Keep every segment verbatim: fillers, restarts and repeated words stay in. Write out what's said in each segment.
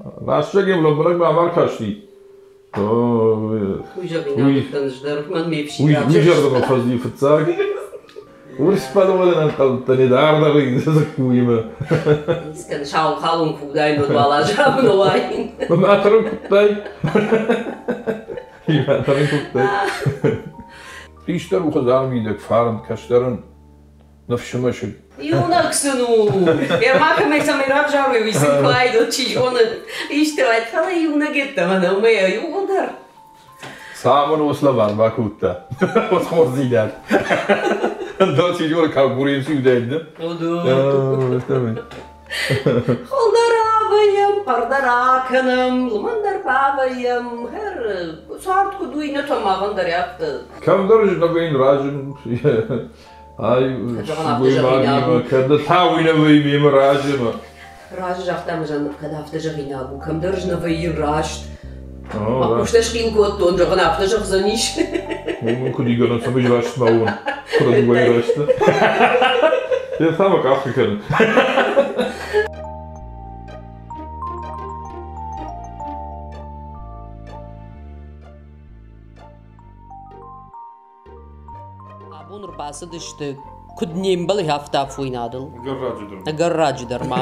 Рӕстӕг-иу лӕмбынӕг мӕм ӕркасти. Уый зӕгъинаг дӕр мӕн ме Уый уый зӕрдӕмӕ фӕзыди фыццаг. Урс бӕлвырдӕн ӕнхъӕлдтӕн дардӕр дзыккуимӕ. Искӕн сау халон куы уыдаин, уӕд уал азы уаин. Мӕ тырын куыдтай. Мӕ тырын куыдтай. Хистӕр у хӕдзары мидӕг фарн, кӕстӕрӕн ныфсы мӕсыг. Иунӕг сын у. Ма кӕмӕй цӕмӕй равзарой, уый сын куы айдот, чи зоны, исты уӕд, фӕлӕ иунӕг йеддӕмӕ нӕу мӕ иууылдӕр. Цӕмӕн ус лӕвар бакодта? Ус хорздзинад. Ӕндӕр чи зоны, конкуренци уыдаид, не? Хуылдӕр авӕййӕм, хъӕрдӕр акӕнӕм, лымӕндӕр бавӕййӕм, хӕр, цард куыд у, иннӕтӕ махӕн дӕр афтӕ. Кӕмдӕр зынӕвӕйын разын, ай сылгоймагимӕ, кӕд та уый нӕ вӕййы мемӕ разы. Разы загъта мӕ кӕд афтӕ зӕгъинаг у, кӕмдӕр нӕ вӕййын раст. Мӕ хъустӕ схъил кодтон, зӕгъын, афтӕ зӕгъдзӕнис. Уымӕн куыд игӕнӕн, цӕмӕй раст ма уон, куыд уай раст. Йӕ та мӕ къахы кӕны. Абон ӕрбацыдысты, куыд не мбӕлы, афтӕ афойнадыл. Ӕгӕр дӕр. Ӕгӕр раджы дӕр ма.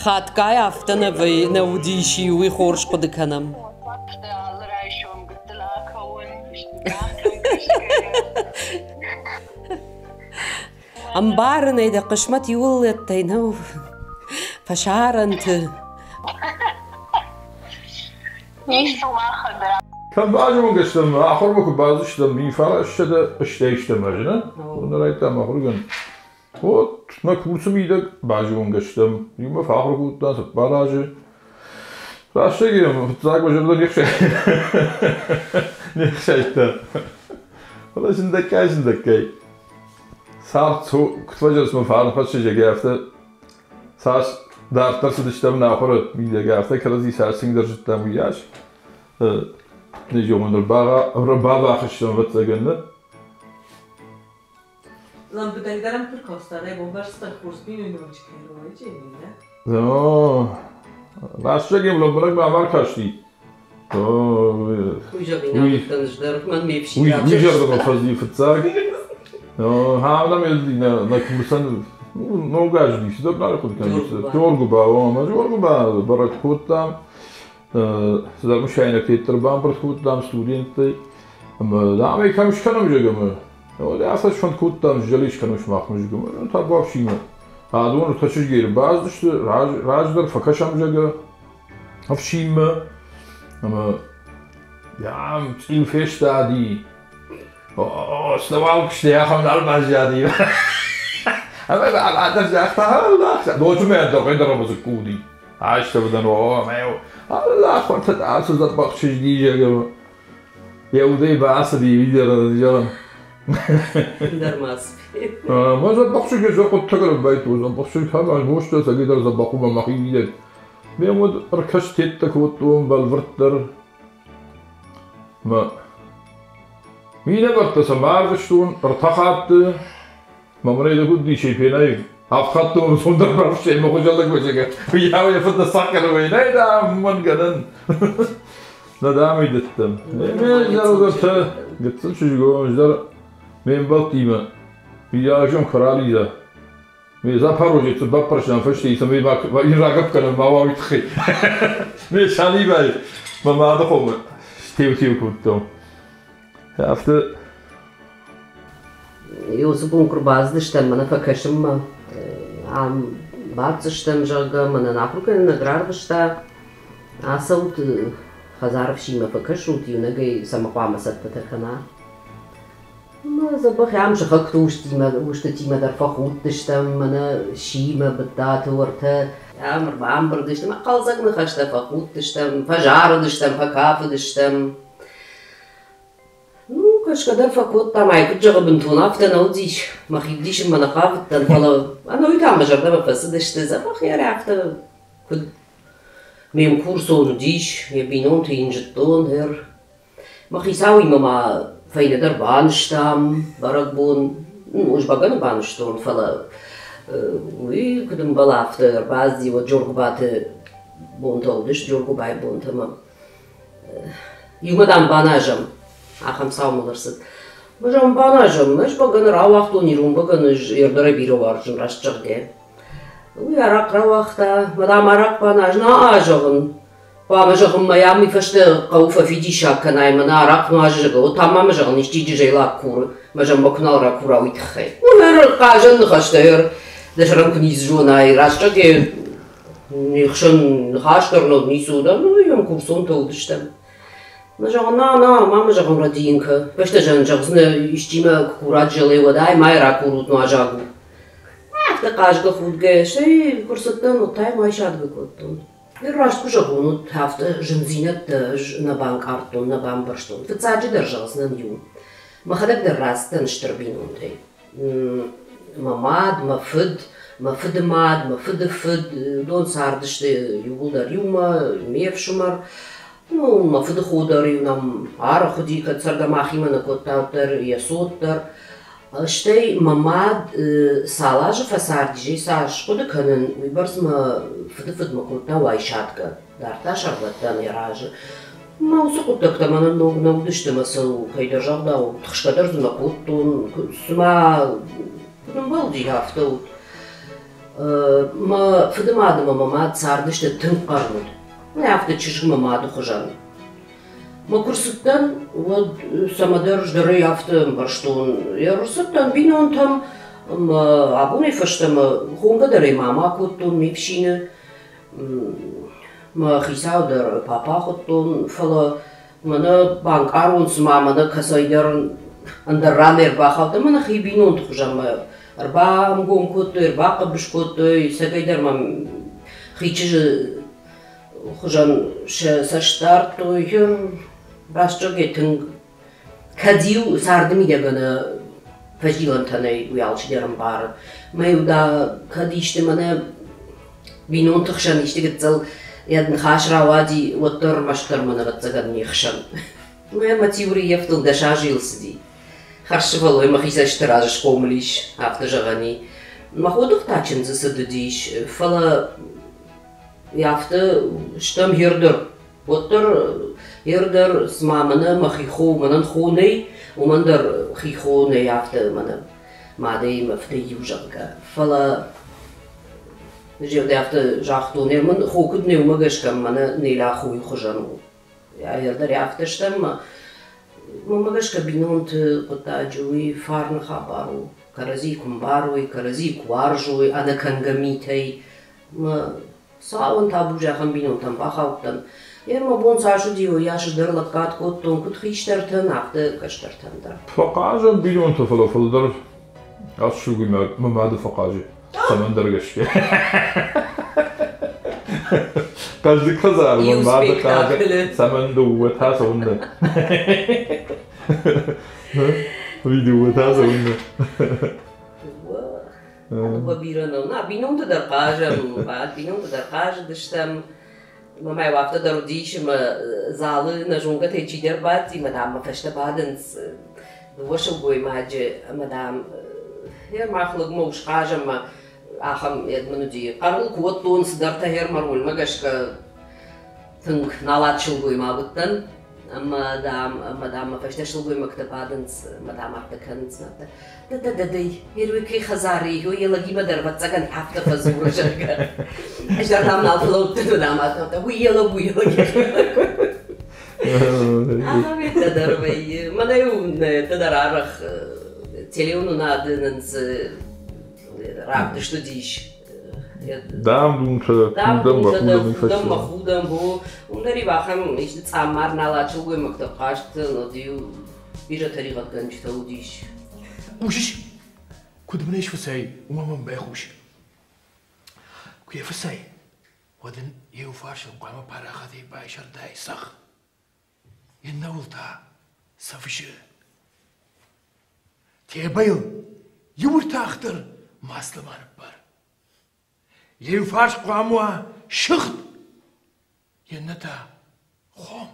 Хатгай афтӕ нӕ вӕййы, нӕ уыдис, уый хорз хъуыды кӕнӕм. Алы райсом гыццыл акӕуын, Ӕмбарын ӕй, дӕ хъысмӕт иууылӕттӕй нӕу фӕсарӕнты. Кӕм базонгӕ стӕм, ахуырмӕ куы бацыдыстӕм, мин фарассӕдӕ стӕй стӕм ӕз, нӕ? Нырӕй-та ахуыргӕнд. Вот нӕ курсы мидӕг базонгӕ стӕм. Иумӕ фӕахуыр кодтам цыппар азы. Рӕстӕг фыццаг мӕ зӕрдӕ не не хсайдта. Фӕлӕ сындӕггай сындӕггай цард куыд фӕзӕрдзмӕ фарн хӕссӕг, афтӕ цас дарддӕр цыдыстӕм нӕ ахуыры мидӕг, афтӕ кӕрӕдзи цас тынгдӕр зыдтам, уыйас не бабахыстӕм, ӕвӕццӕгӕн, нӕ? Лӕмбынӕгдӕр ӕм куы ркастан, бомбӕрста хорз бинойнаг кӕй не? Рӕстӕг-иу лӕмбынӕг мӕм ӕркасти. Уый зӕгъинаг дӕр мӕн ме Уый зӕрдӕмӕ фӕзыди фыццаг. Хавнам нӕ курсӕн ног аз уыди, цыдӕр нал хъуыды кӕнын. Джоргуыба, ӕмӕ Джоргуыба бӕрӕг кодтам. Цыдӕр мысайнӕгтӕ ӕрбамбырд кодтам студенттӕй. Ӕмӕ дам ӕй кӕм скӕнӕм, зӕгъӕм. Афтӕ сфӕнд кодтам, зӕли скӕнӕм сымахмӕ, зӕгъӕм. Табуафсимӕ. Адон ӕртӕ чызгӕй ӕрбацыдысты, раздӕр фӕкӕсӕм, зӕгъӕ, ӕфсинмӕ. Ӕмӕ дам цъил фестади. Сновал куысты ахӕм нал баззади. Ӕмӕ адӕм загъта, ноджы мӕ ӕндӕр ӕндӕр дзыкку уыди. Айстӕвдӕн, о, мӕ Аллах, ацы дзӕбӕх чызг зӕгъӕм. Йӕ удӕй бацыди, видер, зӕгъӕм. Ӕндӕр ма Ма дзӕбӕх чызг хъуыддӕгӕн байту, дзӕбӕх чызг ӕмӕ мостӕ цӕгидӕр дзӕбӕх у мӕхи мидӕг. Ме уӕд ӕркастеттӕ кодтон бӕлвырддӕр. Мӕ минӕвӕрттӕ сӕ маргъыстон ӕртӕ хатты. Мӕ мын ӕй куыд дисӕй фенай, авд хатты мӕм цондӕр бафсӕй мӕ хуызӕллӕг базӕгӕ. Уыйау йӕ фыд сахъхъӕны нӕй, дам, уымӕн гӕнӕн. Нӕ дам ӕй дӕттӕм. Ме зӕрдӕтӕ гыццыл чызгон дӕр ме мбӕлттимӕ Миййаг куы ралидза. Ме Запорожецы баппӕрстам фӕстейы, цӕмӕй ма рагӕпп кӕнӕм ма уа уый тыххӕй. Ме Санибайы мӕ мады хомы стеу-теу кодтон. Афтӕ Иу бон куы рбацыдыстӕм, мӕнӕ фӕкӕсынмӕ, ам баддзыстӕм, зӕгъгӕ, мӕнӕн ахуыргӕнӕг рарвыста. Ацӕут хӕдзары фсинмӕ фӕкӕсут, иунӕгӕй цӕмӕ хъуамӕ цӕттӕтӕ кӕна. Мӕ дзӕбӕх ам сыхӕгты устимӕ, устытимӕ дӕр фӕхудтыстӕм, мӕнӕ симӕ, быдтаты уӕртӕ. Ам ӕрбамбырд стӕм, хъӕлдзӕг ныхӕстӕ фӕхудтыстӕм, фӕзарыдыстӕм, фӕкафыдыстӕм. Ну, кӕсгӕ дӕр фӕкодтам, ай куыд зӕгъы, бынтон афтӕ нӕ уыдис. Мӕхи вдисынмӕ нӕ хъавыдтӕн, фӕлӕ ӕнӕуый та мӕ зӕрдӕмӕ фӕцыдысты, дзӕбӕх йӕ афтӕ куыд ме мкурсон уыдис, йӕ бинонты йын зыдтон дӕр. Мӕ хицауимӕ ма фӕйнӕ дӕр банызтам бӕрӕгбон. Ну, ӕз бӕгӕны банызтон, фӕлӕ уый куыд ӕмбӕлы, афтӕ ӕрбацыди уӕд Джоргуыбаты бонтӕ уыдысты, Джоргуыбайы бонтӕ ӕмӕ иумӕ, дам, баназӕм. Ахӕм цау мыл ӕрцыд. Мӕ зӕгъын, баназӕм. Ӕз бӕгӕны рауагътон, ирон бӕгӕны ӕз ӕрдӕрӕй бирӕ уарзын, раст зӕгъгӕ. Уый арахъхъ рауагъта, мӕ, дам, арахъхъ баназ. На, зӕгъын, хъуамӕ, зӕгъын, мӕ йӕм уый фӕстӕ хъӕуы фӕфидиссаг кӕнай, мӕнӕ арахъхъ нуазы, зӕгъгӕ, уӕд та ма мӕ, зӕгъын, исчи джызӕйлаг куры, мӕ зӕгъын, мӕ куы нал ракура, уый тыххӕй. Уый хъазӕн ныхӕстӕ, дӕ сӕрӕн куы ницы зонай, раст зӕгъгӕ, не хсӕн ныхас дӕр нӕ уыд, ницы уыд, ну, йӕм курсонтӕ уыдыстӕм. Мӕ зӕгъын, на, на, ма мӕ, зӕгъын, рӕдийын кӕ. Фӕстӕ зӕгъын, зӕгъдзынӕ, исчи мӕ куы курат желе, уӕд ай ма ракурут нуазаг у. Афтӕ хъазгӕ-худгӕ, стӕй куы рцыдтӕн, уӕд та йӕм айсадгӕ кодтон. Раст куы зӕгъон, уӕд афтӕ зындзинӕдтӕ ӕз нӕ банкъардтон, нӕ бамбӕрстон. Фыццаджыдӕр зӕгъдзынӕн иу. Мӕхӕдӕг дӕр рацыдтӕн стыр бинонтӕй. Мӕ мад, мӕ фыд, мӕ фыды мад, мӕ фыды фыд, уыдон цардысты иууылдӕр иумӕ, ме фсымӕр. Ну, мӕ фыды хо дӕр-иу нӕм арӕх уыди, кӕд цӕргӕ махимӕ нӕ кодта, уӕддӕр йӕ цот дӕр. Стӕй мӕ мад цал азы фӕцардис, цас хъуыды кӕнын, уыйбӕрц мӕ фыды фыдмӕ кодта уайсадгӕ. Дардта сӕрвӕттӕн йӕ разы. Мӕ уыцы хъуыддӕгтӕ мӕнӕн ног нӕ уыдысты ӕмӕ сыл кӕйдӕр загъдау, тыхсгӕ дӕр дзы нӕ кодтон, цыма куыд ӕмбӕлди, афтӕ уыд. Мӕ фыды мад ӕмӕ мӕ мад цардысты тынг хъӕрмуд. Афтӕ чызг мӕ мады хуызӕн. Мӕ куы рцыдтӕн, уӕд цӕмӕдӕр здӕрӕй афтӕ ӕмбӕрстон. Ӕрцыдтӕн бинонтӕм ӕмӕ абонӕй фӕстӕмӕ хонгӕ дӕр ӕй мама кодтон ме фсины. Мӕ хицау дӕр папа хуыдтон, фӕлӕ мӕнӕ банкъарон, цыма мӕнӕ кӕцӕйдӕр ӕндӕр ран ӕрбахаудтӕн, мӕнӕ хи бинонты хуызӕн мӕ ӕрбамгом кодтой, ӕрбахъӕбыс кодтой, цӕгӕйдӕр мӕм хи чызджы хуызӕн сӕ цӕст дардтой. Раст зӕгъгӕ, тынг кӕд-иу царды мидӕг ӕнӕ фӕзилӕнтӕ нӕй, уый алчидӕр ӕмбары. Мӕ-иу да кӕд исты мӕнӕ бинонты хсӕн исты гыццыл йӕ ныхас рауади, уӕддӕр ӕрмӕстдӕр мӕн ӕвӕццӕгӕн не хсӕн. Мӕ мӕ теори йӕфтыл дӕс азы йыл цыди. Хӕрзсывӕллон мӕхи цӕсты раз схъомыл ис, афтӕ зӕгъӕн и. Мӕ ходых та чындзы цыд уыдис, фӕлӕ афтӕ стӕм ӕрдӕр. Уӕддӕр ӕрдӕр, цыма мӕнӕ мӕхи хо, мӕнӕн хо нӕй, уымӕн дӕр хи хо нӕй, афтӕ мӕнӕ мадӕй мӕ фыдӕй иу, зӕгъгӕ. Фӕлӕ зӕгъгӕ, афтӕ загътон, мын хо куыд нӕ, уымӕ гӕсгӕ мӕнӕ Неля хойы хуызӕн у. Ӕрдӕр афтӕ стӕм, уымӕ гӕсгӕ бинонты хъуыддаджы уый фарны хабар у. Кӕрӕдзи куы мбарой, кӕрӕдзи куы уарзой, ӕнӕкӕнгӕ митӕй. Мӕ цауын табу зӕххӕн бинонтӕм бахаудтӕн. Йе мӕ бон цас уыди, уыйас дӕр лӕггад кодтон куыд хистӕртӕн, афтӕ кӕстӕртӕн дӕр. Фӕхъазӕм бинонтӕ, фӕлӕ фылдӕр ацы сылгоймаг мӕ мады фӕхъазы цӕмӕндӕр гӕсгӕ. Хъӕздыг хӕдзар мӕ мады хъазы, цӕмӕн дыууӕ та цӕуыннӕ? Уый дыууӕ та цӕуыннӕ? Дыууӕ бирӕ нӕу. На, бинонты дӕр хъазӕм, бинонты дӕр хъазыдыстӕм. Мӕ афтӕ дӕр уыдис, ӕмӕ залы нӕ зонгӕтӕй чидӕр бадти, ӕмӕ, дам, мӕ фӕстӕ бадынц дыууӕ сылгоймаджы, ӕмӕ, дам, мах лӕгмӕ ус хъазӕм, ӕмӕ ахӕм мын уыди. Хъӕрыл кодтон цыдӕртӕ мӕ рольмӕ гӕсгӕ тынг налат сылгоймаг уыдтӕн. Ӕмӕ, дам, ӕмӕ, дам, мӕ фӕстӕ сылгоймӕгтӕ бадынц, ӕмӕ, дам, афтӕ кӕнынц. Да-да-да-дӕй, первый кӕй хӕдзары, йӕ лӕгимӕ дӕр ӕвӕццӕгӕн афтӕ фӕдзуры, зӕгъгӕ. Ӕз дӕр, дам, нал фӕлӕудтӕн, дам, афтӕ, уый йӕ лӕг, уый йӕ лӕг. Ахӕм дӕр вӕййы. Мӕнӕ-иу дӕр арӕх телеуынынады нын цы равдыст уыдис. Дам-думтӕ, худӕм, худӕм, худӕм, худӕм, уым дӕр-иу ахӕм исты цъаммар налат сылгоймӕгтӕ хъазт, уӕд-иу бирӕ тӕригъӕдгӕнджытӕ уыдис. Хъусыс, куыд мын ӕй сфыцай, уымӕ мӕм байхъус. Куы йӕ фыцай, уӕд ын йӕ иу фарсыл хъуамӕ парахатӕй байсӕрдай цӕхх, иннӕуыл та цӕфсы. Тебӕйыл иу ӕртах дӕр масло ма ныппар. Йӕ иу фарс хъуамӕ уа сыгъд, иннӕ та хом.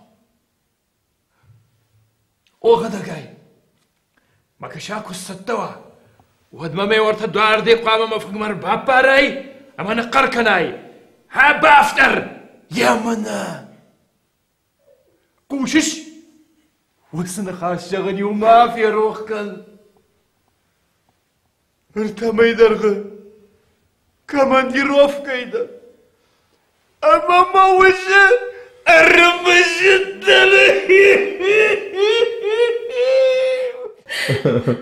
О, хӕдӕгай, мӕ кӕса куы сцӕттӕ уа, уӕд мӕ ме уӕртӕ дуарде хъуамӕ мӕ фынгмӕ ӕрбаппарай ӕмӕ ныхъхъӕр кӕнай: «Хӕ, бафтӕр!» Емынӕ! Хъусыс? Уыцы ныхас зӕгъын-иу ма ферох кӕн. Ӕртӕ мӕйы дӕргъы командировкӕйы дӕн. Ӕмӕ мӕ усы ӕрымысыдтӕн.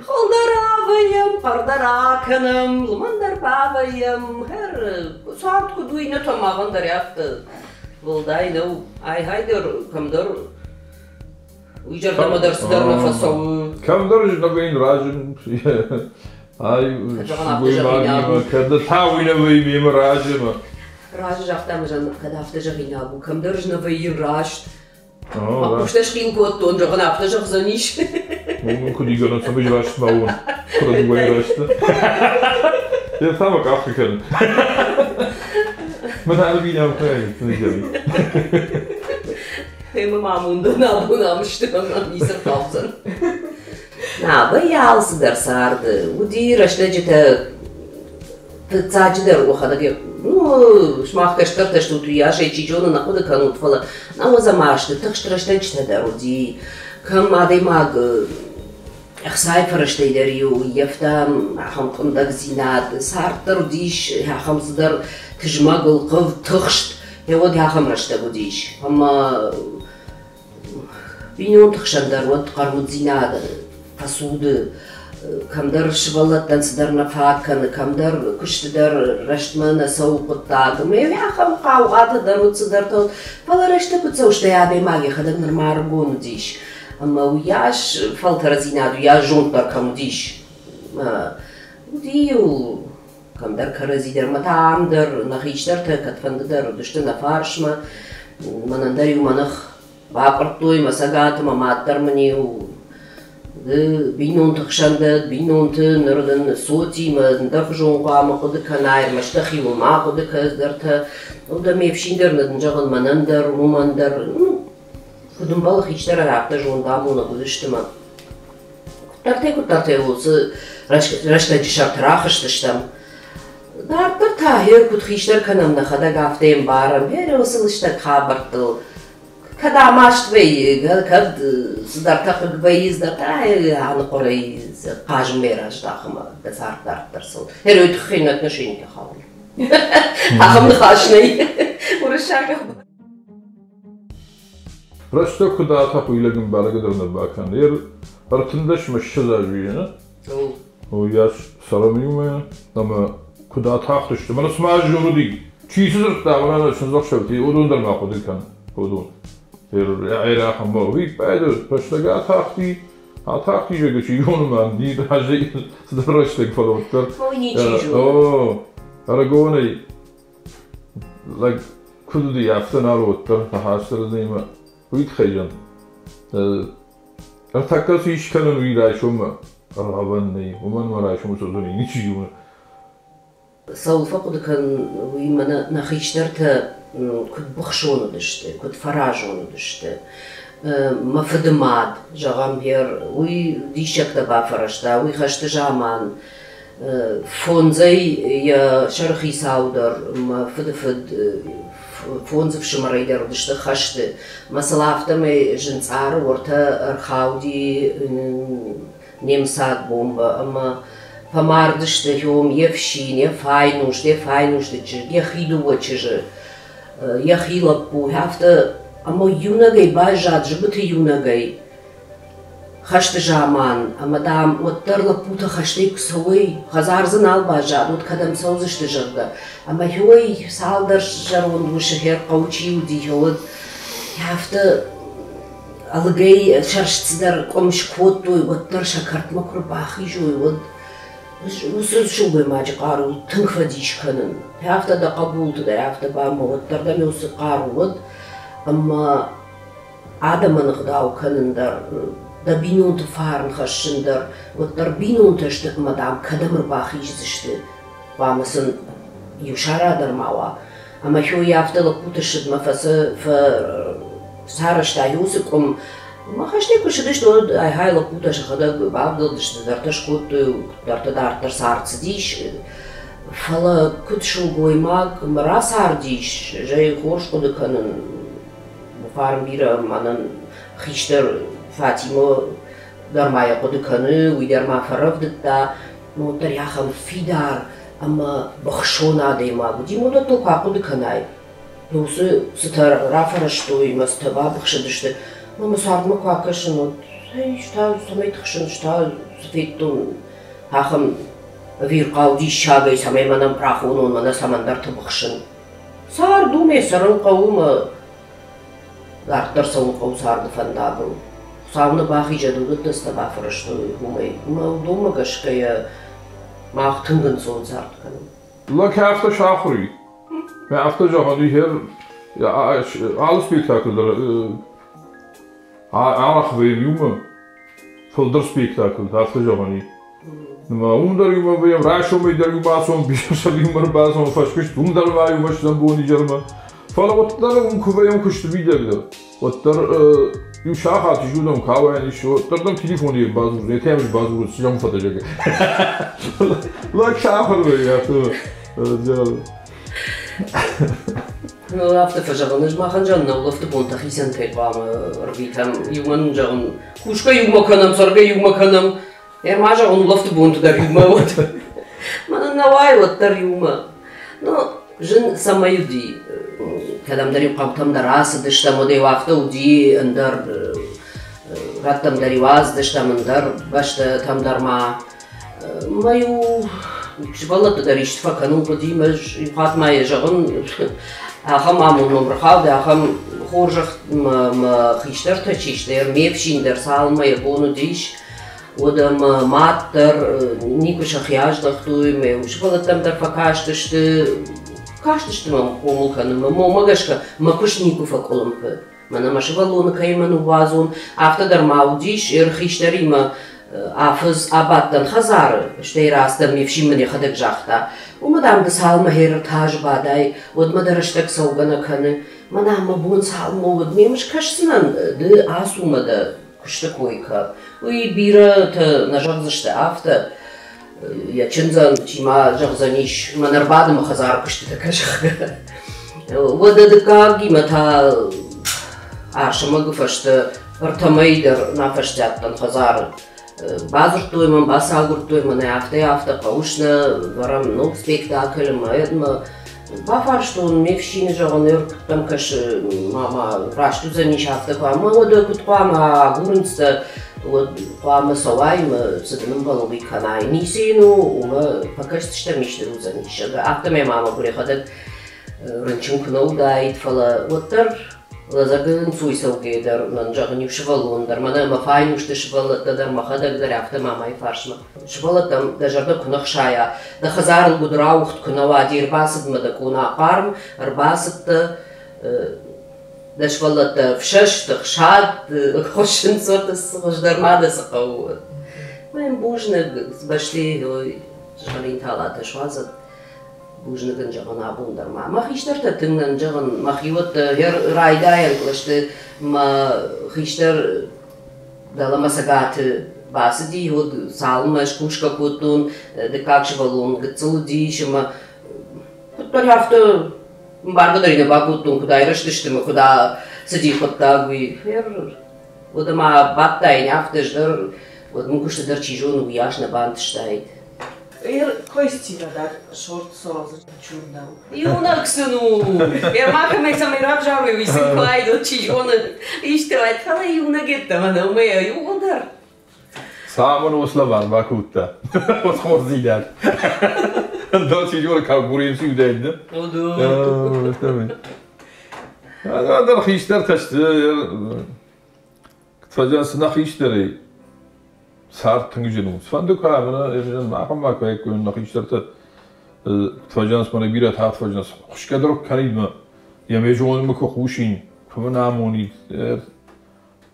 Хуылдӕр авӕййӕм, хъӕрдӕр акӕнӕм, лымӕндӕр бавӕййӕм. Хӕр, цард куыд у, иннӕтӕ махӕн дӕр афтӕ уӕлдай нӕу. Ай-гьай дӕр кӕмдӕр уый зӕрдӕмӕ дӕр цыдӕр нӕ фӕцӕуы. Кӕмдӕр зынӕвӕйын разын. Ай, сылгоймагимӕ, кӕд та уый нӕ вӕййы мемӕ разы. Разы загъта ӕмӕ кӕд афтӕ зӕгъинаг у, кӕмдӕр нӕ вӕййын раст. Мӕ хъустӕ схъил кодтон, зӕгъын, афтӕ зӕгъдзӕнис. Уым куыд игӕнӕн, цӕмӕй раст ма уон, куыд дыууӕйы рӕзты. Йӕ та мӕ къахы кӕны. Мӕн ӕрбинӕм кӕны. Ӕмӕ ма амондӕн абон ам сты ӕмӕ ницы рхаудзӕн. Нӕ, вӕййы алцыдӕр царды. Уыди рӕстӕджытӕ фыццаджыдӕр уӕхӕдӕг, ну, сымах кӕстӕртӕ стут, уыйас ӕй чи зоны нӕ хъуыды кӕнут, фӕлӕ науӕдзӕм азты тыхст рӕстӕджытӕ дӕр уыди. Кӕм адӕймаг ӕхцайы фӕрӕзтӕй дӕр-иу ӕййӕфта ахӕм къуындӕгдзинад, цард дӕр уыдис ахӕм цыдӕр тызмӕг, ӕлхъывд, тыхст, уӕд ахӕм рӕстӕг уыдис. Ӕмӕ бинонты хсӕн дӕр уӕд хъӕрмуддзинад фӕцуды, кӕмдӕр сывӕллӕттӕн цыдӕр нӕ фаг кӕны, кӕмдӕр куысты дӕр рӕстмӕ нӕ цӕуы хъуыддаг. Ӕмӕ ахӕм хъаугъатӕ дӕр уыд цыдӕртӕ, фӕлӕ рӕстӕг куыд цӕуы, стӕй адӕймаг йӕхӕдӕг нырма ӕрыгон уыдис. Ӕмӕ уыйас фӕлтӕрдзинад, уыйас зонд дӕр кӕм уыдис. Уыди-иу кӕмдӕр кӕрӕдзи дӕр, мӕ та ам дӕр нӕ хистӕртӕ кӕдфӕнды дӕр уыдысты нӕ фарсмӕ. Мӕнӕн дӕр-иу мӕ ных бакъуырдтой мӕ цӕгаты, мӕ мад дӕр мын-иу бинонты хсӕн дӕ, бинонты ныр дын цотимӕ ӕндӕрхуызон хъуамӕ хъуыды кӕнай, ӕрмӕст дӕхиуыл ма хъуыды кӕн цыдӕртӕ. Уӕдӕ ме фсин дӕр нын зӕгъын мӕнӕн дӕр, уымӕн дӕр, ну, куыд ӕмбӕлы хистӕрӕн, афтӕ зондамонӕг уыдысты мӕ. Куыддӕртӕй-куыддӕртӕй уыцы рӕстӕджы сӕрты рахызтыстӕм. Дарддӕр та гъер куыд хистӕр кӕнӕм нӕхӕдӕг, афтӕ ӕмбарӕм, гъер уыцы лыстӕг хабӕрттыл кӕд амаст вӕййы, кӕд цыдӕртӕ хъыг вӕййы, цыдӕртӕ аныхъуырӕй хъазынмӕ раздахы ӕмӕ дӕ цард дарддӕр цӕуы. Гъер уый тыххӕй нӕ отношенитӕ хауы. Ахӕм ныхас нӕй уырыссагау. Рӕстӕг куыд атӕхы, уый лӕг ӕмбаргӕ дӕр нӕ бакӕны. Ер ӕртындӕс мӕ ссӕдз азы ины. Уыйас цӕрӕм иумӕ ӕмӕ куыд атахтысты. Мӕнӕ цыма ӕз зон уыди. Чи цы дзырдта, мӕнӕ чындзӕхсӕвты, уыдон дӕр ма хъуыды кӕн. Уыдон. Ӕрахӕм виппайды рӕстӕг атахти, атахти, зӕгъгӕ, чи зоны ма, ни разӕй цыдӕр рӕстӕг, фӕлӕ уӕддӕр. Ой, ничи зоны. О, ӕрыгонӕй лӕг куыд уыди, афтӕ нал уӕддӕр ныхас уый тыххӕй зӕгъын. Ӕртӕккӕ цы ис кӕнын, уый райсоммӕ ӕргъӕвӕн нӕй, уымӕн мӕ райсомы цӕудзӕни ничи зоны. Цӕуыл фӕхъуыды кӕнын, уый мӕнӕ нӕ хистӕртӕ куыд быхсон уыдысты, куыд фӕразон уыдысты. Мӕ фыды мад, зӕгъӕм, уый диссӕгтӕ бафӕрӕзта, уый хӕсты заман фондзӕй йӕ сӕрыхицау дӕр, мӕ фыды фыд фондз ӕфсымӕрӕй дӕр уыдысты хӕсты. Мӕ сыл афтӕмӕй зынцъары уӕртӕ ӕрхауди немыцаг бомбӕ ӕмӕ фӕмардысты хьом йе фсин, йӕ файнуст, йӕ файнусты чызг, йӕхи дыууӕ чызджы, йӕхи лӕппу. Афтӕ ӕмӕ иунӕгӕй баззад зыбыты иунӕгӕй хӕсты заман. Ӕмӕ, дам, уӕддӕр лӕппутӕ хӕстӕй куы цӕуой, хӕдзар дзы нал баззад, уӕд кӕдӕм цӕудзысты, зӕгъгӕ. Ӕмӕ хьой цалдӕр зӕронд усы хӕрхъӕу чи уыди, уӕд афтӕ ӕлыгӕй сӕрст цыдӕр къуым скодтой, уӕддӕр сӕ кӕртмӕ куы рбахизой, уӕд уыцы сылгоймаджы хъару тынг фӕдис кӕнын. Афтӕ дӕ хъӕбулты дӕр афтӕ бамӕ, уӕддӕр дӕм уыцы хъару уыд, ӕмӕ адӕмӕн ӕгъдау кӕнын дӕр, дӕ бинонты фарн хӕссын дӕр, уӕддӕр бинонтӕ сты ӕмӕ, дам, кӕдӕм ӕрбахиздзысты, хъуамӕ сын иу сара дӕр ма уа. Ӕмӕ хьой афтӕ лӕппуты ссыдмӕ сарӕзта уыцы къуым. Ӕмӕ хӕстӕй куы ссыдысты, уӕд ай-гьай лӕппутӕ сӕхӕдӕг бавдӕлдысты, цыдӕртӕ скодтой, куыддӕртӕ дарддӕр цард цыдис. Фӕлӕ куыд сылгоймаг рацардис, зӕй хорз хъуыды кӕнын, фарн бирӕ мӕнӕн хистӕр Фатимӕ дӕр ма йӕ хъуыды кӕны, уый дӕр ма фӕрӕвдыдта, уӕддӕр ахӕм фидар ӕмӕ быхсон адӕймаг уыди. Уыдӕттыл куы ахъуыды кӕнай, уыцы цытӕ рафӕрӕзтой ӕмӕ цытӕ бабыхсыдысты, ӕмӕ цардмӕ куы акӕсын, уӕд ӕз та цӕмӕй тыхсын, ӕз та цы федтон, ахӕм ӕвирхъау диссагӕй, цӕмӕй мӕнӕн рахонон, мӕнӕ цӕмӕндӕрты быхсын. Цард у, ме цӕрын хъӕуы мӕ дарддӕр цӕуын хъӕуы царды фӕндагыл. Хуыцау нӕ бахизӕд, уыдӕттӕ цытӕ бафӕрӕзтой, уымӕй. Ӕмӕ уыдонмӕ гӕсгӕ йӕ мах тынг ӕнцон цард кӕнӕм. Лӕг афтӕ сахуыр и. Афтӕ зӕгъӕн и, алы спектакль дӕр арӕх вӕййӕм иумӕ, фылдӕр спектакль, афтӕ зӕгъӕн и. Уым дӕр иумӕ вӕййӕм, райсомӕй дӕр иумӕ ацӕуӕм, бисӕм иумӕ ӕрбацӕуӕм фӕскуыст, уым дӕр ма иумӕ стӕм бон-изӕрмӕ. Фӕлӕ уӕддӕр уым куы вӕййӕм куысты мидӕг дӕр, уӕддӕр иу сахат ис, уыдон кауӕн ис, уӕддӕр дӕм телефоны бадзуры, йӕ тӕм бадзуры, цы зӕгъын фӕдӕ Лӕг сахуыр вӕййы, афтӕ. Ну, афтӕ фӕзӕгъын, ӕз махӕн зӕгъын, нӕ улӕфты бонтӕ хицӕнтӕй хъуамӕ ӕрвитӕм. Иумӕ нын зӕгъын, кусгӕ иумӕ кӕнӕм, цӕргӕ иумӕ кӕнӕм. Ӕрма зӕгъын, улӕфты бонты дӕр иумӕ уӕд. Мӕнӕн нӕ уайы уӕддӕр иумӕ. Ну, зын цӕмӕй уыди, кӕдӕмдӕр-иу хъӕутӕм дӕр ацыдыстӕм, уӕд-иу афтӕ уыди, ӕндӕр рӕттӕм дӕр-иу ацыдыстӕм, ӕндӕр бӕстӕтӕм дӕр ма. Мӕ-иу сывӕллӕтты дӕр исты фӕкӕнын хъуыди, мӕ иу хатт ма йӕ зӕгъын, ахӕм амонд мӕм ӕрхауд, ахӕм хорзӕх мӕ мӕ хистӕртӕ чи сты, ме фсин дӕр цалынмӕ йӕ бон уыдис, уӕд ӕмӕ мад дӕр никуы сӕхи аздӕхтой, мӕ сывӕллӕттӕм дӕр фӕкастысты, кастысты мӕм хъомыл кӕнынмӕ. Мӕнмӕ гӕсгӕ мӕ куыст никуы фӕкъуылымпы. Мӕнӕ мӕ сывӕллоны кӕимӕ ныууадзон, афтӕ дӕр ма уыдис, ӕрхистӕримӕ афӕдз абадтӕн хӕдзары, стӕй рацыдӕн, ме фсин мын йӕхӕдӕг загъта, уымӕ, дам, ды цалынмӕ ӕртӕ азы бадай, уӕдмӕ дӕ рӕстӕг цӕугӕ нӕ кӕны. Мӕнӕ мӕ бон цалынмӕ уӕд ме скӕсдзынӕн, ды ацу мӕ дӕ куысты кой кӕ. Уый бирӕтӕ нӕ зӕгъдзысты афтӕ, йӕ чындзӕн, чи ма зӕгъдзӕнис, мӕн ӕрбады мӕ хӕдзары куыстытӕ кӕ, зӕгъгӕ. Уӕдӕ дыккагимӕ та Арсӕмӕгы фӕстӕ ӕртӕ мӕйы дӕр нӕ фӕстиат дӕн хӕдзары. Бадзырдтой мӕм, бацагуырдтой мӕнӕ афтӕ-афтӕ хъӕуыс нӕ, вӕрӕм ног спектакль ӕмӕ ӕдмӕ. Бафарстон ме фсины, зӕгъын, ӕркуыдтӕм кӕсы, мама, раст уыдзӕнис афтӕ куы ӕмӕ уӕдӕ куыд хъуамӕ агурынц дӕ, уӕд хъуамӕ цӕуай ӕмӕ цы дын ӕмбӕлы, уый кӕнай. Ницы йын у, уымӕ фӕкӕсдзыстӕм, исты уыдзӕнис. Афтӕ мӕ мама йӕхӕдӕг рынчын куы нӕ уыдаид, фӕлӕ уӕддӕр лӕдзӕгы ӕнцой цӕугӕ дӕр мӕн зӕгъын иу сывӕллон дӕр, мӕнӕ мӕ файнусты сывӕллӕттӕ дӕр, мӕхӕдӕг дӕр афтӕ мамайы фарсмӕ. Сывӕллӕттӕм дӕ зӕрдӕ куы нӕ хсайа, дӕ хӕдзарыл гуыдырауыгъд куы нӕ уа, де рбацыдмӕ дӕ къона хъарм, ӕрбацыдтӕ, дӕ сывӕллӕттӕ фсӕст, ӕхсад, хуыссынц, хуыздӕр ма дӕ цы хъӕуы. Мӕн бузныг, бӕсти сызгъӕрин талатӕ суадзӕд. Бузныг ын зӕгъын абон дӕр ма. Мӕ хистӕртӕ тынг нӕн зӕгъын, мӕхиуӕттӕ райдайӕн кълӕсты мӕ хистӕр дӕлӕмӕ цӕгаты бацыди, уӕд цалынмӕ ӕз кусгӕ кодтон, дыккаг сывӕллон гыццыл уыдис ӕмӕ куыддӕр афтӕ ӕмбаргӕ дӕр нӕ бакодтон, куыд айрӕзтысты ӕмӕ куыд цыди хъуыддаг, уый. Уӕд ӕмӕ бадтаин афтӕ ӕз дӕр, уӕд мын куысты дӕр чи зоны, уыйас нӕ бантыстаид. Ир койстивадаг шорт сорозы чурнау. Иунӕг сын у! Ма кӕмӕй цӕмӕй равзарой, уый сын куы айдот, чи зоны, исты уайд, фӕлӕ иунӕг йеддӕмӕ нӕу мӕ иууылдӕр. Цӕмӕн услован бакодта? Вот хорздзинад. Ӕндӕр чи зоны, конкуренци уыдаид, да? Ӕндӕр хистӕртӕ сты, фӕлӕ цы нӕ хистӕрӕй цард тынг зын у. Цыфӕнды куы ӕмӕ ахӕм ма куы нӕ хистӕртӕ фӕзынынц, мӕнӕ бирӕ тагъд фӕзынынц. Хуысгӕ дӕр куы кӕнид мӕ, йӕ ме зонынмӕ куы хъусин, куы мын амонид.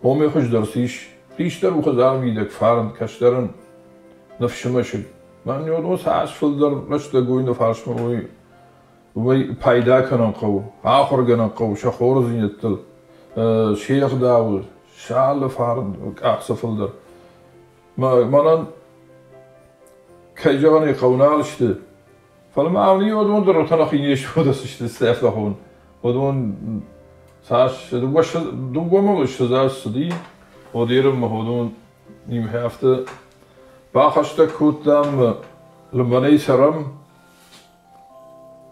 Омӕ хуыздӕр цы ис? Хистӕр у хӕдзары мидӕг, фарн, кӕстӕрӕн ныфсы мӕсыг. Мӕн уыдон цас фылдӕр рӕстӕг уый нӕ фарсмӕ уый уымӕй пайда кӕнын хъӕуы, ахуыргӕнӕн хъӕуы сӕ хорздзинӕдтыл, се гъдауыл, сӕ алы фарн къахдзӕф фылдӕр. Мӕнӕн, кӕй зӕгъын ӕй хъӕуы, нал сты, Фӕлӕ ма уыдон дӕр уӕтӕнахи не сфӕлдысты сӕфтахон. Уыдон цас дыууӕ мыл ссӕдз аз цыди, уӕд уыдон нимхӕфты бахӕстӕг кодтам лымӕнӕй цӕрӕм.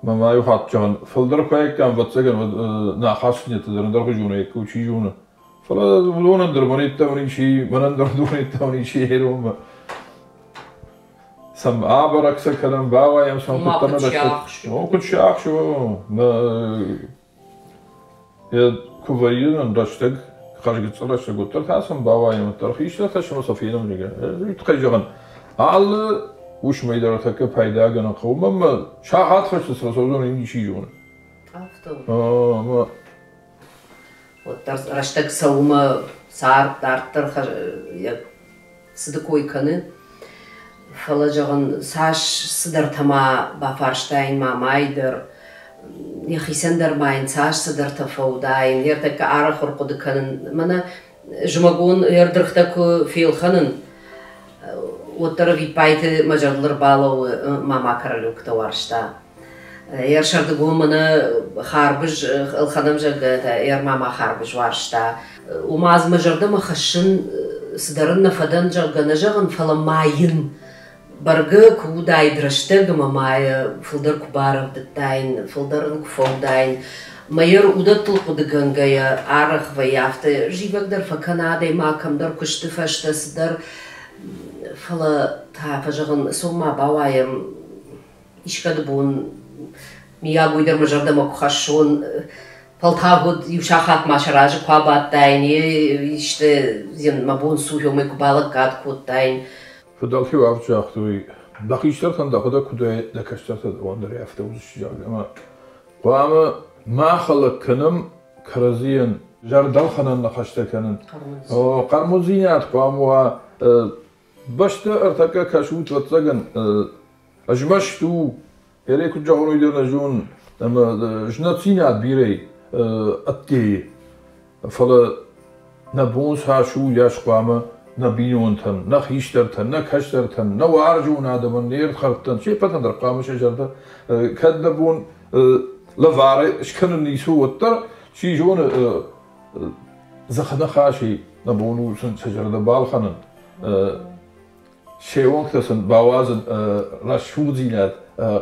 Мӕ ма иу хатт зӕгъын, фылдӕр куы аиккам, ӕвӕццӕгӕн, уӕд нӕ ахастдзинӕдтӕ дӕр ӕндӕрхуызон аиккой, чи зоны. Фӕлӕ уыдонӕн дӕр мӕн йеддӕмӕ ничи, мӕнӕн дӕр уыдон йеддӕмӕ ничи ӕромы. Сӕм абӕрӕг сӕ кӕнӕм, бауайӕм сӕм Ма куыддӕр куыд нӕ сиахс. О, куыд сиахс, о. Йӕ куы вӕййы нын рӕстӕг, хӕрзгыццыл рӕстӕг, уӕддӕр та сӕм бауайӕм, уӕддӕр хистӕртӕ сӕм сӕ фенӕм, зӕгъгӕ. Уый тыххӕй зӕгъын, алы уысмӕй дӕр тӕккӕ пайдагӕнӕн хъӕуы. Мӕнмӕ сахат фӕстӕ цы рацӕудзӕн, уый ничи зоны. Афтӕ у. Ӕмӕ Уӕддӕр рӕстӕг цӕуы мӕ цард дарддӕр йӕ цыды кой кӕны. Фӕлӕ, зӕгъын, цас цыдӕртӕ ма бафарстаин мамӕйы дӕр, йӕхицӕн дӕр ма йын цас цыдӕртӕ фӕуыдаин, йе ртӕккӕ арӕх ӕрхъуыды кӕнын. Мӕнӕ зымӕгон ӕрдыргътӕ куы фелхӕнын, уӕддӕр ӕвиппайды мӕ зӕрдыл ӕрбалӕууы мама королёктӕ уарзта. Йӕ сӕрдыгон мӕнӕ харбыз ӕлхӕнӕм, зӕгъгӕ, йӕ мама харбыз уарзта. Уымӕ аз мӕ зӕрдӕмӕ хӕссын цыдӕр ын нӕ фӕдӕн, зӕгъгӕ, нӕ зӕгъын, фӕлӕ ма йын бӕргӕ куы уыдаид рӕстӕг ӕмӕ ма йӕ фылдӕр куы барӕвдыдтаин, фылдӕр ын куы фӕуыдаин. Мӕ йӕ уыдӕттыл хъуыдыгӕнгӕйӕ арӕх вӕййы афтӕ зивӕг дӕр фӕкӕна адӕймаг кӕмдӕр куысты фӕстӕ цыдӕр. Фӕлӕ та фӕзӕгъын, цом ма бауайӕм, искӕды бон миййаг уый дӕр мӕ зӕрдӕмӕ куы хӕссон, фӕлтау уӕд иу сахат ма сӕ разы куы абадтаин, исты мӕ бон цы у, уымӕй куы балӕггад кодтаин. Фыдӕлтӕ афтӕ загътой, дӕ хистӕртӕн дӕхӕдӕг куыд уай, дӕ кӕстӕртӕ дӕуӕн дӕр афтӕ уыдзысты, зӕгъгӕ. Ӕмӕ хъуамӕ ма хӕлӕг кӕнӕм кӕрӕдзийӕн зӕрдӕлхӕнӕн ныхӕстӕ кӕнын. Хъӕрмуддзинад хъуамӕ уа. Бӕстӕ ӕртӕккӕ кӕсут, ӕвӕццӕгӕн, ӕзмӕст у, ӕрӕй куыд зӕгъон, уый дӕр нӕ зонын, ӕмӕ знӕтдзинад бирӕ ӕддейы. Фӕлӕ нӕ бон цас у, уыйас хъуамӕ нӕ бинонтӕн, нӕ хистӕртӕн, нӕ кӕстӕртӕн, нӕ уарзон адӕмӕн, не рдхӕрдтӕн, се ппӕтӕн дӕр хъуамӕ сӕ зӕрдӕ, кӕд нӕ бон лӕвары скӕнын ницы у, уӕддӕр, чи зоны, дзыхы ныхасӕй нӕ бон у сын сӕ зӕрдӕ балхӕнын, се уӕнгтӕ сын бауадзын рӕсугъддзинад,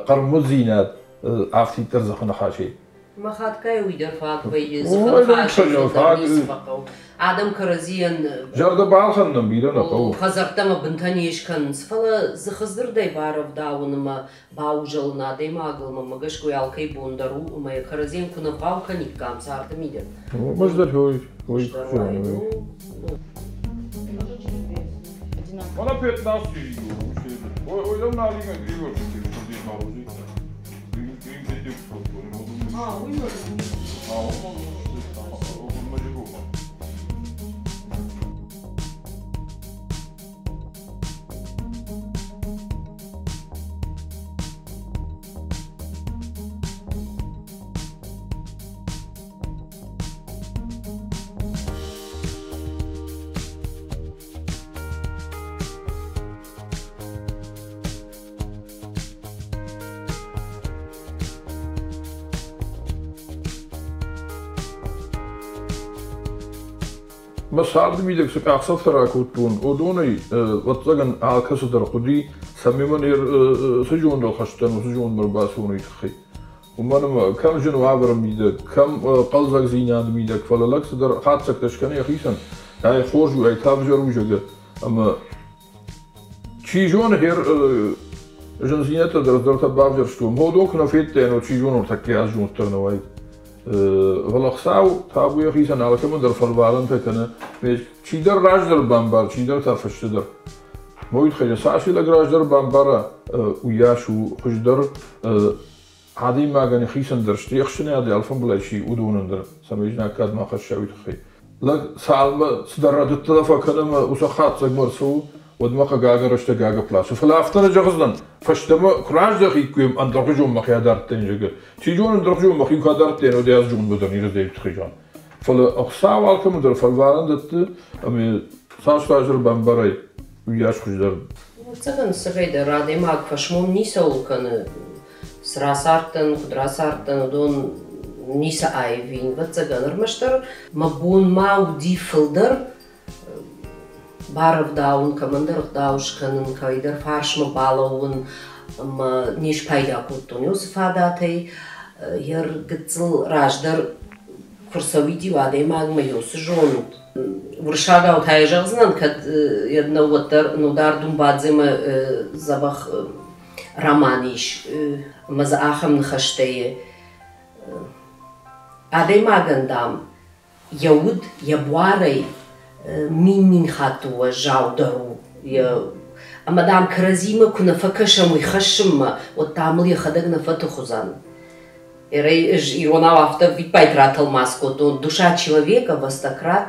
хъӕрмуддзинад афтиддӕр дзыхы ныхасӕй. Мӕ хатгай уый дӕр фаг вӕййы, дзыхы ныхасӕй фылдӕр ницы фӕхъӕуы. Адӕм кӕрӕдзийӕн зӕрдӕ балхӕнынӕн бирӕ нӕ хъӕуы. Хӕдзӕрттӕ ӕмӕ бынтӕ не скӕнынц, фӕлӕ дзыхы дзырдӕй барӕвдауын ӕмӕ баузӕлын адӕймагыл мӕ гӕсгӕ уый алкӕй бон дӕр у, ӕмӕ йӕ кӕрӕдзийӕн куы нӕ вгъау кӕниккам царды мидӕг. Хуыздӕр уый, уый. Она пятнадцать. Ой, ой, на лига Григорий, А, уый А, он Мӕ царды мидӕг цы къахдзӕфтӕ ракодтон, уыдонӕй, ӕвӕццӕгӕн, алкӕцы дӕр хъуыди, цӕмӕй мӕн цы зондыл хӕстӕн, уыцы зондмӕ ӕрбацӕуон, уый тыххӕй. Уымӕн ӕмӕ кӕм зын уавӕры мидӕг, кӕм хъӕлдзӕгдзинады мидӕг, фӕлӕ лӕг цыдӕр хатдзӕгтӕ скӕны йӕхицӕн, ай хорз у, ай та ӕвзӕр у, зӕгъгӕ. Ӕмӕ чи зоны, хер зындзинӕдтӕ дӕр ӕздӕртӕ бавзӕрстон. Уыдон куы нӕ федтаин, уӕд чи зоны, ӕртӕккӕ аз зонд дӕр нӕ уаид. Фӕлӕ Хуыцау табу йӕхицӕн алкӕмӕн дӕр фӕлварӕнтӕ кӕны. Чидӕр раздӕр бамбар, чидӕр та фӕстӕдӕр. Уый тыххӕй цас лӕг раздӕр бамбара, уыйас у хуыздӕр адӕймагӕн йӕхицӕн дӕр, стӕй ӕхсӕнады алфамбылай чи, уыдонӕн дӕр, цӕмӕй знаггад ма хӕсса, уый тыххӕй. Лӕг цалынмӕ цыдӕр рӕдыдтӕ фӕкӕны ӕмӕ уыцы хатдзӕгмӕ ӕрцӕуы, уӕдмӕ хъыгагӕн рӕстӕг агӕпп ласы. Фӕлӕ афтӕ нӕ зӕгъдзынӕн, фӕстӕмӕ куы раздӕхиккой, ӕндӕрхуызон мӕхи адардтаин, зӕгъгӕ. Чи зоны, ӕндӕрхуызон мӕхи куы адардтаин, уӕд ӕз зондмӕ дӕр не рыздӕхин тыххӕй зӕгъын. Фӕлӕ Хуыцау алкӕмӕн дӕр фӕлварӕн дӕтты, ӕмӕ цас раздӕр бамбарай, уыйас хуыздӕр. Ӕвӕццӕгӕн, цӕгӕй дӕр адӕймаг фӕсмон ницӕуыл кӕны. Цы рацардтӕн, куыд рацардтӕн, уыдон ницы аивин, ӕвӕццӕгӕн, ӕрмӕстдӕр мӕ бон ма уыди фылдӕр барӕвдауын, кӕмӕндӕр ӕгъдау скӕнын, кӕйдӕр фарсмӕ балӕууын ӕмӕ не спайда кодтон уыцы фадатӕй. Йӕ гыццыл раздӕр куы рцӕуид-иу адӕймагмӕ уыцы зонд. Уырыссагау та йӕ зӕгъдзынӕн, кӕд йӕ нӕ уӕддӕр Нодар Думбадземӕ дзӕбӕх роман ис ӕмӕ дзы ахӕм ныхӕстӕ адӕймагӕн, дам, йӕ уд йӕ буарӕй мин-мин хатты уӕззаудӕр у. Ӕмӕ, дам, кӕрӕдзимӕ куы нӕ фӕкӕсӕм уый хӕссынмӕ, уӕд, дам, ыл йӕхӕдӕг нӕ фӕтых уыдзӕн. Иронау афтӕ виппайд ратӕлмац кодтон: душа человека во стократ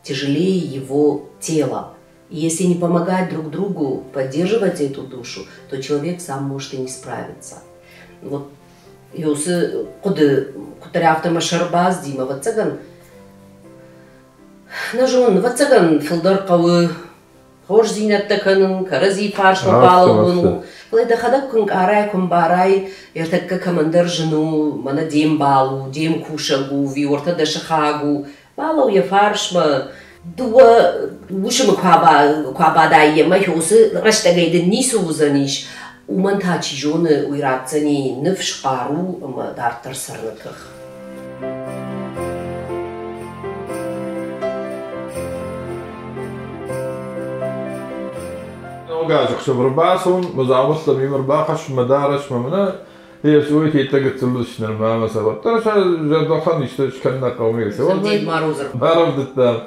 тяжелее его тела. И если не помогать друг другу поддерживать эту душу, то человек сам может и не справиться. Вот уыцы хъуыды куыддӕр афтӕ мӕ сӕр бацыди, мӕ ӕвӕццӕгӕн, нӕ зонын, ӕвӕццӕгӕн фылдӕр хъӕуы хорздзинӕдтӕ кӕнын, кӕрӕдзи фарсмӕ балӕууын. Фӕлӕ дӕхӕдӕг куы нкъарай, куы ӕмбарай, ӕртӕккӕ кӕмӕндӕр зын у, мӕнӕ де мбал у, де мкусӕг у, ӕви уӕртӕ дӕ сыхаг у, балӕуу йӕ фарсмӕ. Дыууӕ уысмы куы абадай йемӕ, уыцы рӕстӕгӕй дын ницы уыдзӕнис, уымӕн та, чи зоны, уый ратдзӕни ныфс, хъару ӕмӕ дарддӕр цӕрыны тых. Ног азы ӕхсӕв ӕрбацӕуын, мӕ дзаумӕттӕ мемӕ ӕрбахӕссын, мӕ дарӕс мӕ мӕнӕ Йесойы теттӕ гыццыл уыдысты ӕмӕ сӕ уӕддӕр сӕ зӕрдӕхӕн исты скӕнын нӕ хъӕуы. Дед Мороз Барӕвдыдтам.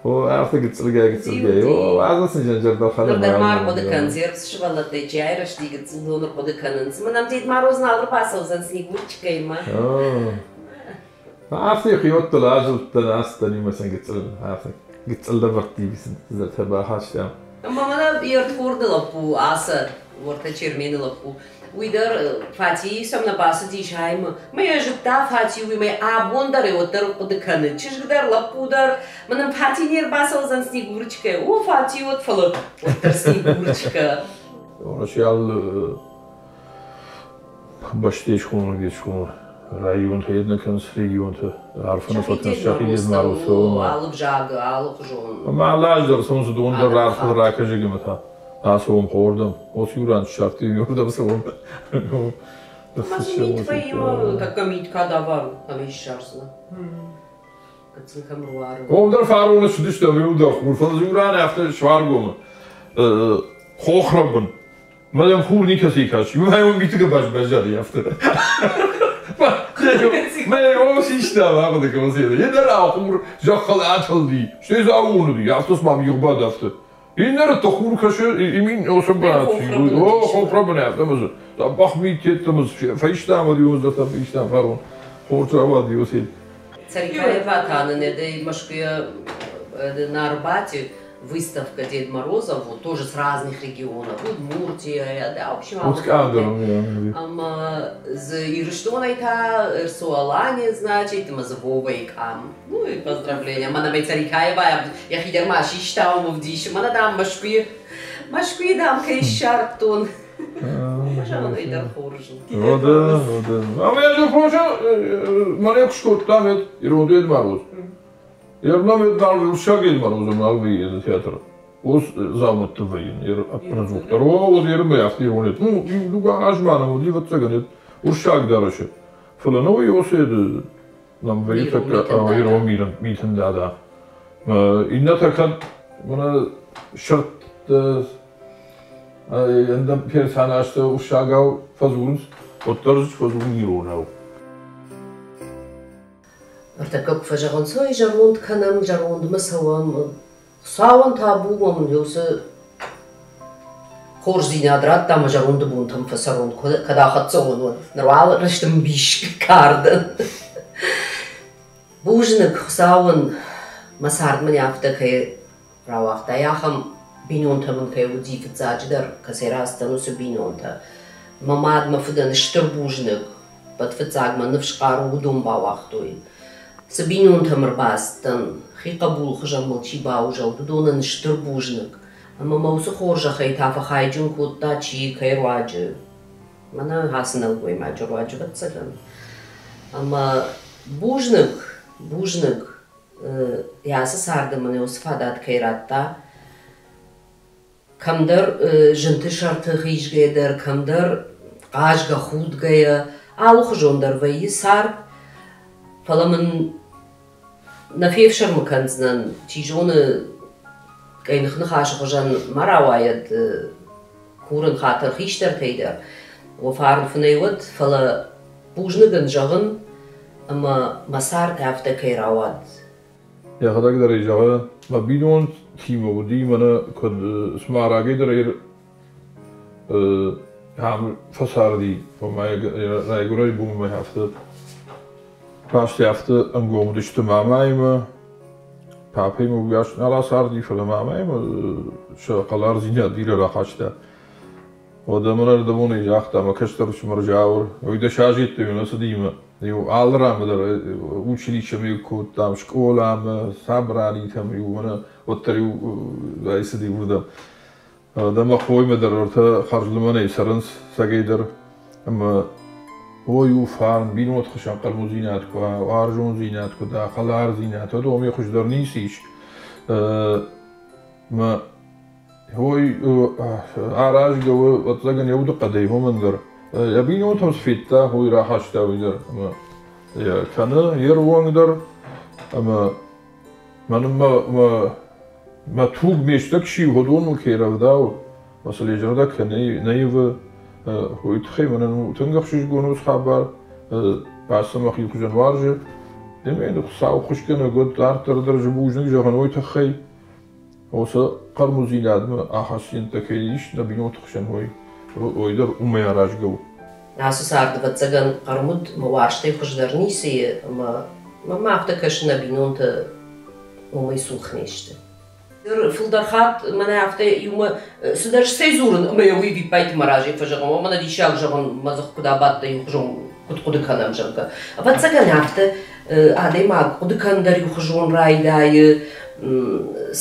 О, афтӕ гыццылгай гыццылгай. О, азы сын зӕрдӕхӕн. Ныр дӕр ма ӕрхъуыды кӕнынц, сывӕллӕттӕй чи айрӕзти гыццыл, уыдон ӕрхъуыды кӕнынц. Мӕнӕ Дед Мороз нал ӕрбацӕудзӕн Снегурочкӕимӕ. Афтӕ хиуӕттыл азылдтӕн, ацыдтӕн иумӕ сын гыццыл афтӕ гыццыл лӕвӕртти сын цыдӕртӕ бахастам. Ӕмӕ мӕнӕ йе рдхорды лӕппу Ацӕ, уӕртӕ Чермены лӕппу, уый дӕр Фатийы сӕм нӕ бацыдис аймы. Мӕ йӕ зыдта Фати, уый мӕ абон дӕр уӕддӕр хъуыды кӕны. Чызг дӕр, лӕппу дӕр. Мӕнӕн Фати не рбацӕудзӕн Снегурочкӕ. О, Фати уӕд, фӕлӕ уӕддӕр Снегурочкӕ. Уӕрӕсейы бӕстӕйы схонӕг схонӕг районтӕ нӕ кӕнынц регионтӕ арфӕ нӕ фӕкӕнынц сӕхи Дед Мороз алы взагы, алыхуызон. Ӕмӕ алы аз дӕр цӕуынц уыдон дӕр арфӕ ракӕсӕг ӕмӕ та ацӕуӕм хордӕм. Уыцы иу ран ссардтой, уырдӕм цӕуӕм. Ӕмӕ дзы мит вӕййы, тӕккӕ мит кадавар у, ӕмӕ ссардзынӕ. Гыццыл кӕм руары. Уым дӕр фароны цыдыстӕм, иу дӕр хур, фӕлӕ дзы иу ран афтӕ Суаргомы хохрӕбын. Мӕ йӕм хур никӕцӕй каст. Мӕ уым миты гӕбаз баззади афтӕ. Мӕ йӕ систа, ахъуыды кӕнын. Йе дӕр хур зӕххыл атылди, стӕй дзы аууон уыди, афтӕ цыма мигъбад афтӕ. Иннӕ хур кӕсы, имин осӕбӕт, о, хохрӕбын афтӕ мӕ дзы дзӕбӕх мит йеддӕмӕ фӕистам уӕд иуӕндӕртӕ фӕистам фарон. Хорз рауади уыцы. Царикаева та нын этой Москве на Арбате выставка Дед Морозов, вот тоже с разных регионов, Удмуртия, да, в общем, ӕмӕ дзы Ирыстонӕй та РЦО-Алания, значит, ӕмӕ дзы Вовайы къам. Ну и поздравления. Мӕнӕ мӕ Царикаева йӕхи дӕр ма систа уым ӕвдисы. Мӕнӕ, дам, Мӕскуыйы, Мӕскуыйы, дам, кӕй ссардтон. Зӕгъын дӕр хорз у. О, да, о, да. Ӕмӕ ӕз хорз мӕнӕ куы скодтам ирон Дед Мороз. Ернам нал уырыссаг Дед Морозы нал вӕййы театры. Ус дзаумӕтты вӕййын ӕппынӕдзухдӕр. О, уӕд ермӕ афтӕ ирон Ну, иу азмӕ нӕм уыди, ӕвӕццӕгӕн, уырыссаг дарӕсы. Фӕлӕ нӕ уый оседы нам вӕййы тӕккӕ ирон митын дада. Иннӕтӕ кӕд мӕнӕ сырдты ӕндӕр персонажтӕ уырыссагау фӕдзурынц, уӕддӕр фӕдзурын иронау. Ӕртӕккӕ куы фӕзӕгъынц, ой, зӕронд кӕнӕм, зӕрондмӕ цӕуӕм. Хуыцауӕн табу уӕм, уыцы хорздзинад радта ӕмӕ зӕронды бонтӕм фӕцӕрон, кӕд ахӕццӕ уон, уӕд. Ныр уал рӕстӕмбис кардӕн. Бузныг Хуыцауӕн, мӕ цард мын афтӕ кӕй рауагъта, ахӕм бинонтӕ мын кӕй уыди фыццаджыдӕр, кӕцӕй рацыдтӕн, уыцы бинонтӕ. Мӕ мад, мӕ фыдӕн стыр бузныг, уӕд фыццаг мӕ ныфс хъару уыдон бауагътой. Цы бинонтӕм ӕрбацыдтӕн, хи хъӕбулы хуызӕн мыл чи баузӕлд, уыдонӕн стыр бузныг. Ӕмӕ мӕ уыцы хорзӕхӕй та фӕхайджын кодта чи кӕй руаджы. Мӕнӕ ацы нӕлгоймаджы руаджы, ӕвӕццӕгӕн. Ӕмӕ бузныг, бузныг, йӕ ацы царды мын уыцы фадат кӕй радта. Кӕмдӕр зынты сӕрты хизгӕйӕ дӕр, кӕмдӕр хъазгӕ, худгӕйӕ, алыхуызон дӕр вӕййы цард. Фӕлӕ мын нӕ фефсӕрмы кӕндзынӕн, чи зоны, къӕйных ныхасы хуызӕн ма рауайӕд, курын хатыр хистӕртӕй дӕр, уӕ фарн фынӕй уӕд, фӕлӕ бузныг ын зӕгъын, ӕмӕ мӕ цард афтӕ кӕй рауад. Йӕхӕдӕг дӕр ӕй зӕгъы, мӕ бинонтимӕ уыди, мӕнӕ куыд цыма рагӕй дӕр ам фӕцарди, ома райгуырӕй бонмӕ афтӕ бӕстӕ афтӕ ӕнгом уыдысты мамӕимӕ, папӕимӕ уыйас нал ацарди, фӕлӕ мамӕимӕ сӕ хӕлардзинад бирӕ рахаста. Уӕдӕ мын ӕрдӕбонӕй загъта мӕ кӕстӕр ӕфсымӕр Джауыр, уый дӕс азы йеддӕмӕ нӕ цыди иу алы ранмӕ дӕр училищемӕ кодтам, скъоламӕ, собранитӕм-иу, мӕнӕ уӕддӕр-иу ӕй цыди уырдӕм. Дӕ мӕ хоимӕ дӕр ӕртӕ хӕрзлымӕнӕй цӕрынц цӕгӕй дӕр. Ӕмӕ ой у фарн, бинонты хсӕн хъӕрмудзинад куы уа, уарзондзинад куы да, хӕлардзинад, уӕд уымӕй хуыздӕр ницы ис. Мӕ ой аразгӕ у, ӕцӕгӕн йӕ удыхъӕдӕй уымӕн дӕр. Йӕ бинонтӕм цы федта, уый рахаста уый дӕр. Ӕмӕ йӕ кӕны йе рвонг дӕр. Ӕмӕ мӕнӕн мӕ, мӕ, мӕ туг ме стӕг чи у, уыдон мыл кӕй рӕвдауы, мӕ сыл йӕ зӕрдӕ кӕй нӕ ивы, уый тыххӕй мӕнӕн у тынг ӕхсызгон уыцы хабар. Бӕстӕ мӕхи хуызӕн уарзы. Ӕмӕ Хуыцау хуысгӕнӕг уӕд дарддӕр дӕр бузныг зӕгъын уый тыххӕй. Уыцы хъӕрмудзинадмӕ ахастдзинӕдтӕ кӕй ис нӕ бинонты хсӕн, уый, уый дӕр уымӕй аразгӕ у. Ацы царды, ӕвӕццӕгӕн, хъӕрмуд мӕ уарзтӕй хуыздӕр ницы и, ӕмӕ мӕм афтӕ кӕсы, нӕ бинонтӕ уымӕй цух не сты. Фылдӕр хатт мӕнӕ афтӕ иумӕ цыдӕр сцӕйдзурын ӕмӕ йӕ уый виппайты мӕ разӕй фӕзӕгъын, о, мӕнӕ диссаг зӕгъын, мӕ дзых куыд абадт, иухуызон куыд хъуыды кӕнӕм, зӕгъгӕ. Ӕвӕццӕгӕн, афтӕ адӕймаг хъуыды кӕнын дӕр иухуызон райдайы,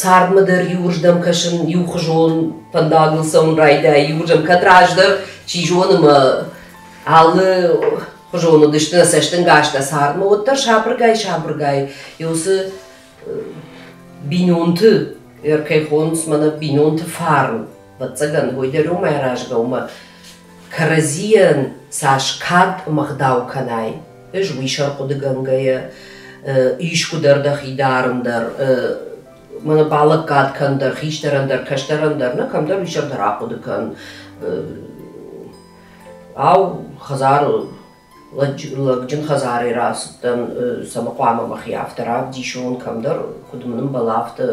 цардмӕ дӕр иуырдӕм кӕсын, иухуызон фӕндагыл цӕуын райдайы, иуырдӕм кӕд раздӕр, чи зоны, мӕ алы хуызон уыдысты нӕ цӕстӕнгастӕ цардмӕ, уӕддӕр сабыргай-сабыргай уыцы бинонты ӕркӕй хонынц мӕнӕ бинонты фарн, ӕвӕццӕгӕн, уый дӕр уымӕй аразгӕ у, ӕмӕ кӕрӕдзийӕн цас кад ӕмӕ ӕгъдау кӕнай, ӕз уый сӕр хъуыдыгӕнгӕйӕ искуы дӕр дӕхи дарын дӕр, мӕнӕ балӕггад кӕн дӕр, хистӕрӕн дӕр, кӕстӕрӕн дӕр, нӕ кӕмдӕр уый сӕр дӕр ахъуыды кӕн. Ау, хӕдзары лӕгджын хӕдзарӕй рацыдтӕн, цӕмӕ хъуамӕ мӕхи афтӕ равдисон, кӕмдӕр, куыд мын ӕмбӕлы, афтӕ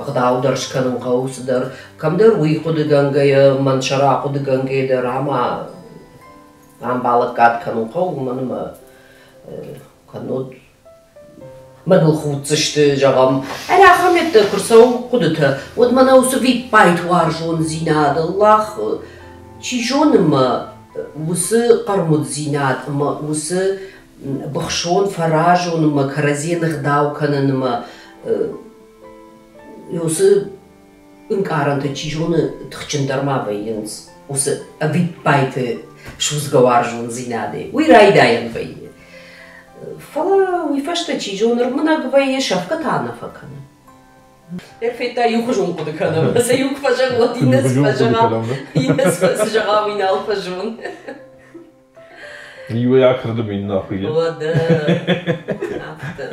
ӕгъдау дӕр скӕнын хъӕуы цыдӕр. Кӕмдӕр уый хъуыдыгӕнгӕйӕ, мӕн сӕр ахъуыдыгӕнгӕйӕ дӕр ӕмӕ ам балӕггад кӕнын хъӕуы, уымӕн ӕмӕ кӕннод мӕныл худдзысты, зӕгъӕм. Ӕрӕ ахӕм йедтӕ куы рцӕуы хъуыдытӕ, уӕд мӕнӕ уыцы виппайд уарзондзинад, Аллах, чи зоны мӕ уыцы хъӕрмуддзинад ӕмӕ уыцы быхсон, фӕразон ӕмӕ кӕрӕдзийӕн ӕгъдау кӕнын ӕмӕ уыцы ӕнкъарӕнтӕ, чи зоны, тыхджындӕр ма вӕййынц уыцы ӕвиппайды судзгӕ уарзондзинадӕй. Уый райдайӕн вӕййы. Фӕлӕ уый фӕстӕ, чи зоны, ӕрмынӕг вӕййы, сӕфгӕ та нӕ фӕкӕны. Федта иухуызон хъуыды кӕнӕм. Сӕ иу куы фӕзӕгъы, уӕд иннӕ цы фӕзӕгъа, иннӕ цы зӕгъа, уый нал фӕзон. Иуӕй акӕрдым, иннӕ ахуыйы. Уӕдӕ, афтӕ.